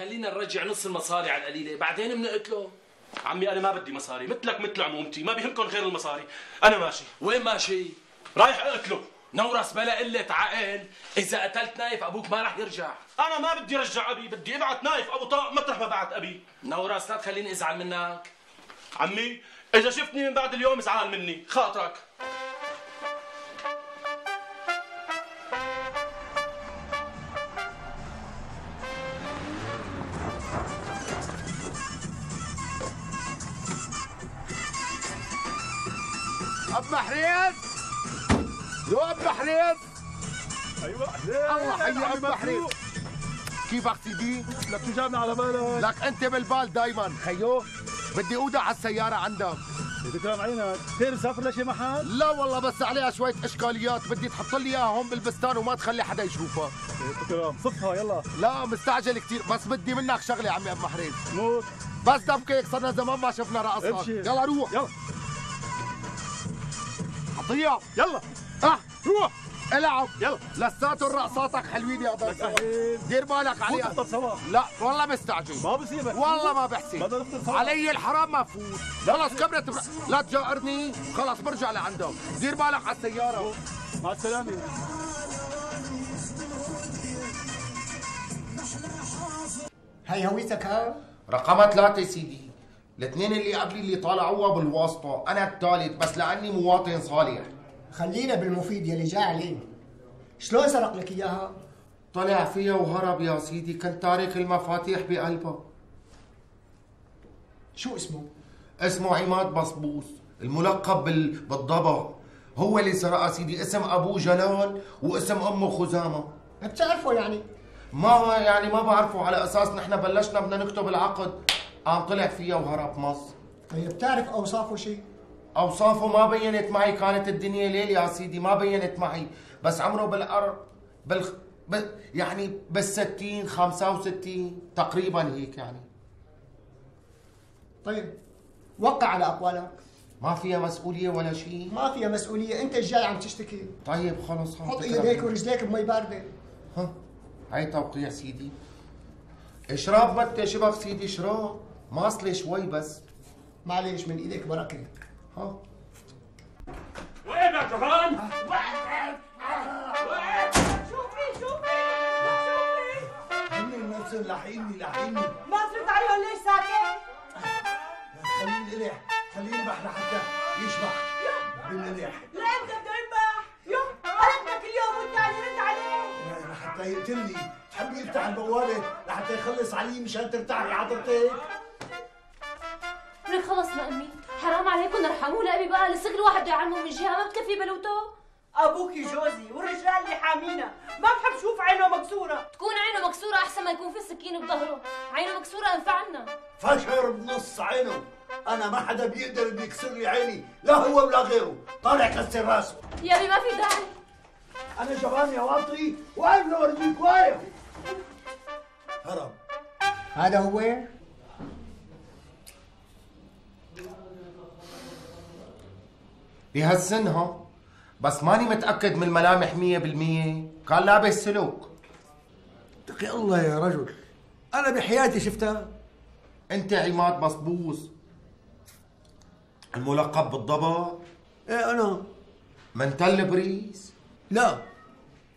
خلينا نرجع نص المصاري على القليله بعدين بنقتله. عمي انا ما بدي مصاري، مثلك مثل عمومتي ما بيهمكم غير المصاري. انا ماشي. وين ماشي؟ رايح اقتله. نورس بلا قلة عقل، إذا قتلت نايف أبوك ما رح يرجع. أنا ما بدي رجع أبي، بدي أبعت نايف أبو طارق مطرح ما بعت أبي. نورس لا تخليني أزعل منك. عمي إذا شفتني من بعد اليوم ازعل مني، خاطرك. أب محريز، يو أب محريز. أيوة الله حي أب محريز. كيفك سيدي؟ لك شو جابنا على بالك؟ لك أنت بالبال دايما خيو. بدي أودع على السيارة عندك. تكرم عينك، خير مسافر لشي محل؟ لا والله بس عليها شوية إشكاليات، بدي تحط لي إياها هون بالبستان وما تخلي حدا يشوفها. تكرم صفها يلا. لا مستعجل كثير، بس بدي منك شغلة عمي أب محريز. موت. بس دبكك صرنا زمان ما شفنا رقصك. يلا روح. يلا. عطية يلا. روح العب. يلا. لساتهم رقصاتك حلوين يا ضيف. دير بالك عليها. نفطر سوا. لا والله مستعجل. ما بسيبك. والله ما بحسب. بدنا نفطر سوا. علي الحرام ما فوت. خلص كبرت لا تجارني، خلص برجع لعندك. دير بالك على السيارة. مع السلامة. هاي هويتك ها؟ رقم 3 سيدي. الاثنين اللي قبلي اللي طالعوها بالواسطة، أنا الثالث بس لأني مواطن صالح. خلينا بالمفيد يلي جاي عليه. شلون سرق لك اياها؟ طلع فيها وهرب يا سيدي، كنت تارك المفاتيح بقلبها. شو اسمه؟ اسمه عماد بصبوس، الملقب بالضبع. هو اللي سرقها سيدي، اسم أبوه جلال واسم أمه خزامة. بتعرفه يعني؟ ما بعرفه، على أساس نحن بلشنا بدنا نكتب العقد قام طلع فيها وهرب مصر. طيب بتعرف أوصافه شيء؟ أوصافه ما بينت معي، كانت الدنيا ليل يا سيدي ما بينت معي، بس عمره يعني بال60 65 تقريبا هيك يعني. طيب وقع على أقوالك. ما فيها مسؤولية ولا شيء؟ ما فيها مسؤولية، أنت الجاي عم تشتكي. طيب خلص حط ايديك ورجليك بمي باردة. ها هاي توقيع سيدي. اشرب متى شبك سيدي، اشرب ماصلي شوي بس. معليش من ايديك بركة. ها وين يا جبان؟ شوفي هن نفسهم لاحقيني ما ترد عليهم ليش ساكت؟ خليه يلح، خليه ينبح لحتى يشبح بالملح. لامتى بده ينبح؟ قلبتك اليوم والتاني رد عليه لحتى يقتلني، تحبي يفتح البوابة لحتى يخلص علي مشان ترتاحي حضرتك؟ لك خلصنا امي، حرام عليكم ارحموا لأبي بقى، لسه كل واحد بده يعلمه من جهه ما بتكفي بلوته. ابوكي جوزي والرجال اللي حامينا، ما بحب شوف عينه مكسوره. تكون عينه مكسوره احسن ما يكون في سكين بظهره، عينه مكسوره انفعنا. فشر بنص عينه، انا ما حدا بيقدر يكسر لي عيني، لا هو ولا غيره، طالع كسر راسه. يا ابي ما في داعي. انا جبان يا واطي، واقف لورجيك واقف. هرب. هذا هو؟ بهالسنها بس ماني متأكد من الملامح 100%. كان لابس سلوك. اتقي الله يا رجل، أنا بحياتي شفتها. أنت عماد بصبوس الملقب بالضبع؟ إيه أنا. من تل بريس؟ لا،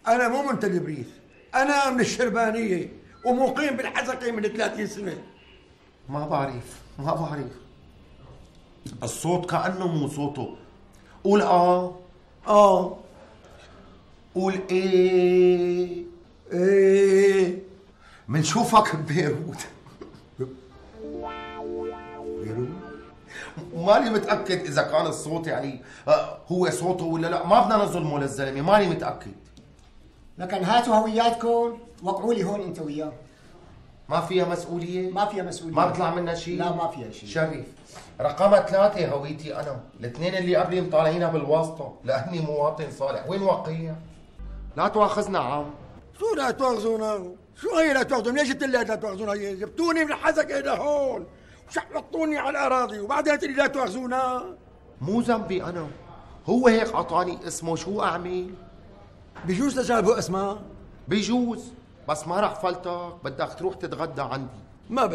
أنا مو من تل بريس، أنا من الشربانية ومقيم بالحزقة من 30 سنة. ما بعرف الصوت كأنه مو صوته. قول قول ايه منشوفك ببيروت. ماني متأكد إذا كان الصوت يعني هو صوته ولا لا، ما بدنا نظلمه للزلمة، ماني متأكد. لكن هاتوا هوياتكم وقعوا لي هون أنت وياه. ما فيها مسؤولية؟ ما فيها مسؤولية. ما بيطلع منها شيء؟ لا ما فيها شيء. شريف. رقم 3 هويتي أنا، الاثنين اللي قبلي مطالعينها بالواسطة لأني مواطن صالح. وين وقيع؟ لا تواخذنا عم. شو لا تواخذونا؟ شو هي لا تواخذونا؟ ليش قلت لي لا تواخذونا؟ هي جبتوني من الحزقة لهون وشحطوني على الأراضي وبعدين قلت لي لا تواخذونا. مو ذنبي أنا، هو هيك أعطاني اسمه، شو أعمل؟ بجوز تجاربه أسماء؟ بجوز، بس ما رح فلتك، بدك تروح تتغدى عندي. ما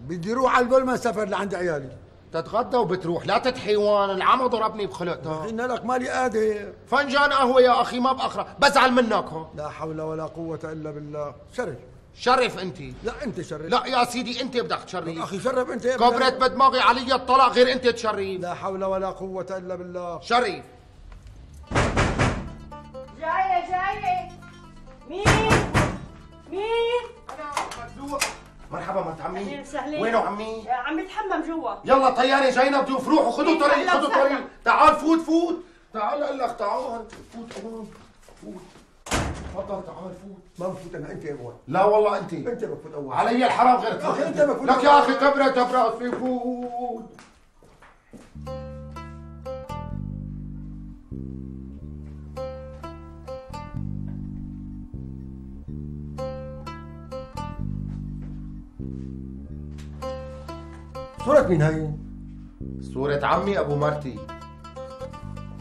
بدي روح على البول ما سافر لعند عيالي. تتغدى وبتروح، لا تتحيوان، العمى ضربني بخلقتك. قلنا لك مالي قادر. فنجان قهوة يا أخي ما بأخرى، بزعل منك ها. لا حول ولا قوة إلا بالله. شرف. شرف أنت. لا أنت شرف. لا يا سيدي أنت بدك تشرف. أخي شرف أنت. كبرت بدماغي علي الطلاق غير أنت تشرف. لا حول ولا قوة إلا بالله. شرف. جاية مين؟ أنا مدلوق. مرحبا مرت عمي. أهلين وسهلين. وينو عمي؟ عم يتحمم جوا. يلا طيارة جاينا ضيوف، روحوا خذوا طريق خذوا طريق. تعال فوت تعال اقول لك تعال فوت كمان فوت. تفضل تعال فوت. ما بفوت أنا أنت أول. لا والله أنت بفوت أول. علي الحرام غير أخي أنت بفوت لك يا أخي كبرت براسي فوت. صورة مين هاي؟ صورة عمي أبو مرتي.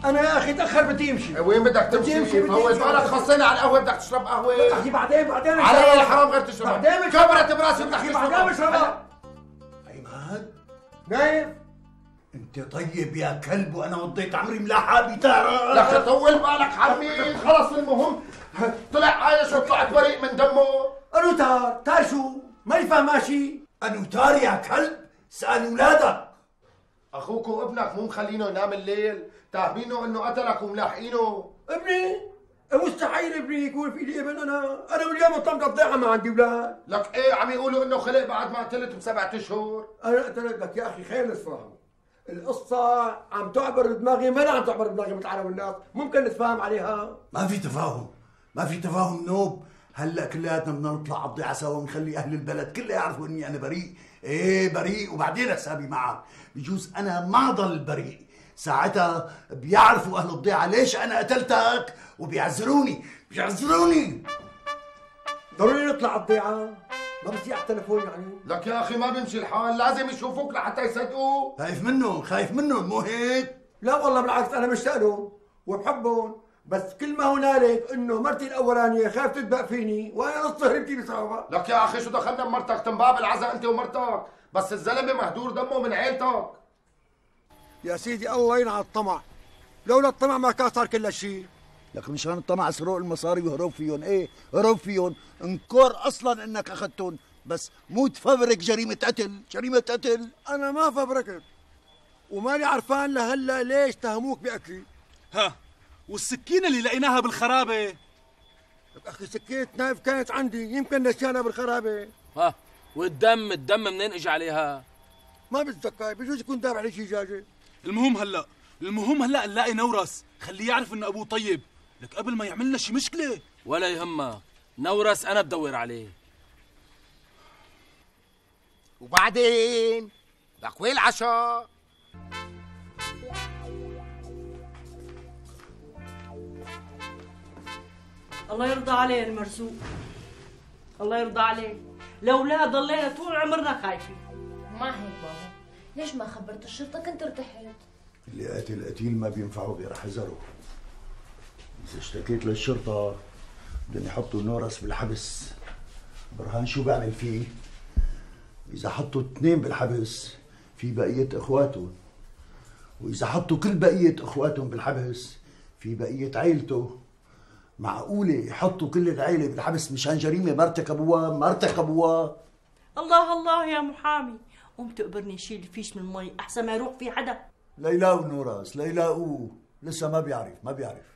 أنا يا أخي تأخر بدي أمشي. وين بدك تمشي؟ طول بالك خصينا على القهوة، بدك تشرب قهوة؟ أخي بعدين علي الحرام غير تشرب. بعدين كبرت براسي بدك أخي تشرب. بعدين بشربها. عماد نايف انت طيب يا كلب، وانا وضيت عمري ملاحة بتارة. لك طول بالك عمي، خلص المهم طلع عايش وطلعت بريء من دمه. أنو تار شو؟ ماني فاهم ماشي. أنو تار يا كلب، سأل ولادك. اخوك وابنك مو مخلينه ينام الليل، تاهمينه انه قتلك وملاحقينه. ابني؟ مستحيل ابني يكون في لي ابن. انا واليوم طمت الضيعه ما عندي اولاد. لك ايه عم يقولوا انه خلق بعد ما قتلت ب7 اشهر. انا قلت لك يا اخي خير نتفاهم. القصة عم تعبر دماغي، ما عم تعبر دماغي مثل العالم والناس، ممكن نتفاهم عليها. ما في تفاهم نوب. هلا كلياتنا بدنا نطلع على الضيعة سوا ونخلي اهل البلد كلها يعرفوا اني انا بريء. ايه بريء، وبعدين حسابي معك. بجوز انا ما ضل بريء، ساعتها بيعرفوا اهل الضيعة ليش انا قتلتك وبيعذروني. ضروري نطلع على الضيعة، ما بصير على التليفون يعني. لك يا اخي ما بيمشي الحال، لازم يشوفوك لحتى يصدقوا. خايف منهم مو هيك؟ لا والله بالعكس، انا مشتاق لهم وبحبهم، بس كل ما هنالك انه مرتي الاولانيه خايف تدبق فيني وانا نص هربتي بسببها. لك يا اخي شو دخلنا بمرتك؟ تنباب العزاء انت ومرتك، بس الزلمه مهدور دمه من عيلتك. يا سيدي الله ينعى الطمع، لولا الطمع ما كان صار كل هالشيء. لك مشان الطمع سرق المصاري وهرب فيهم. ايه هرب فيهم، انكر اصلا انك اخذتهم، بس مو تفبرك جريمه قتل. انا ما فبركت، وماني عرفان لهلا ليش تهموك بقتلي. ها والسكينة اللي لقيناها بالخرابة؟ لك اخي سكينة نايف كانت عندي، يمكن نسيانها بالخرابة. ها والدم منين اجى عليها؟ ما بتذكر، بجوز يكون دافع عليه شي جاجة. المهم هلا نلاقي نورس، خليه يعرف انه ابوه طيب، لك قبل ما يعملنا شي مشكلة. ولا يهمك، نورس انا بدور عليه. وبعدين لك وين العشاء؟ الله يرضى عليه المرزوق، الله يرضى عليه. لولا ضلينا طول عمرنا خايفين. ما هيك بابا، ليش ما خبرت الشرطة؟ كنت ارتحت. اللي قتل ما بينفعوا غير حذره. اذا اشتكيت للشرطه بدهم يحطوا نورس بالحبس. برهان شو بعمل فيه؟ اذا حطوا 2 بالحبس في بقيه اخواتهم، واذا حطوا كل بقيه اخواتهم بالحبس في بقيه عيلته. معقوله يحطوا كل العيله بالحبس مشان جريمه ما ارتكبوها؟ الله يا محامي، قوم تقبرني شيل الفيش من المي احسن ما يروح في حدا. لا يلاقوا نورس، لا يلاقوه، لسه ما بيعرف.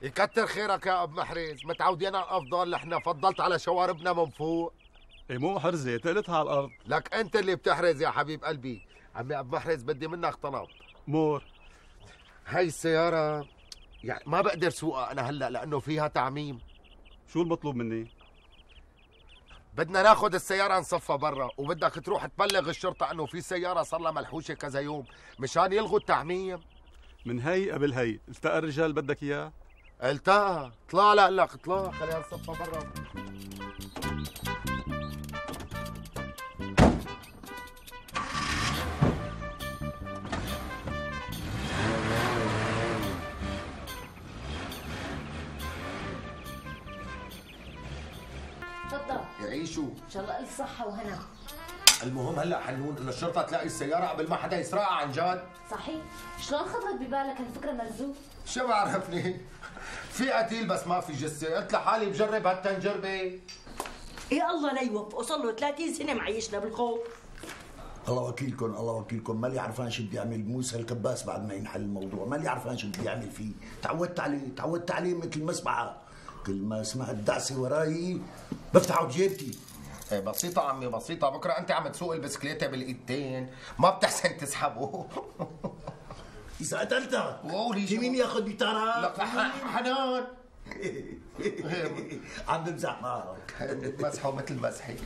يكتر خيرك يا اب محرز، متعودين على الافضل، نحن فضلت على شواربنا من فوق. ايه مو حرزة تقلتها على الارض. لك انت اللي بتحرز يا حبيب قلبي. عمي اب محرز بدي منك طلب. مور هاي السيارة يعني ما بقدر سوقها انا هلا لانه فيها تعميم. شو المطلوب مني؟ بدنا ناخذ السيارة نصفها برا، وبدك تروح تبلغ الشرطة انه في سيارة صار لها ملحوشة كذا يوم مشان يلغوا التعميم. من هي قبل هي، التقى الرجال بدك اياه؟ التقى، طلع لك طلع، خلينا نصفها برا. تعيشوا. ان شاء الله الف صحه وهنا. المهم هلا حنون انه الشرطه تلاقي السياره قبل ما حدا يسرقها عن جد. صحيح. شلون خطرت ببالك هالفكره مرزوق؟ شو بعرفني؟ في قتيل بس ما في جثه، قلت لحالي بجرب هالتنجربه. يا الله لا يوفقه، صار له 30 سنه معيشنا بالخوف. الله وكيلكم الله وكيلكم، مالي عرفان شو بدي اعمل موسى الكباس بعد ما ينحل الموضوع، مالي عرفان شو بدي اعمل فيه، تعودت عليه مثل المسبعه، كل ما سمعت دعسه وراي بفتحه بجيبتي. ايه بسيطة عمي بسيطة، بكره انت عم تسوق البسكليتة بالايدتين، ما بتحسن تسحبه. اذا قتلتك قولي في مين ياخذ بتارك؟ لك حنان. عم بمزح معك. مسحه مثل مسحي.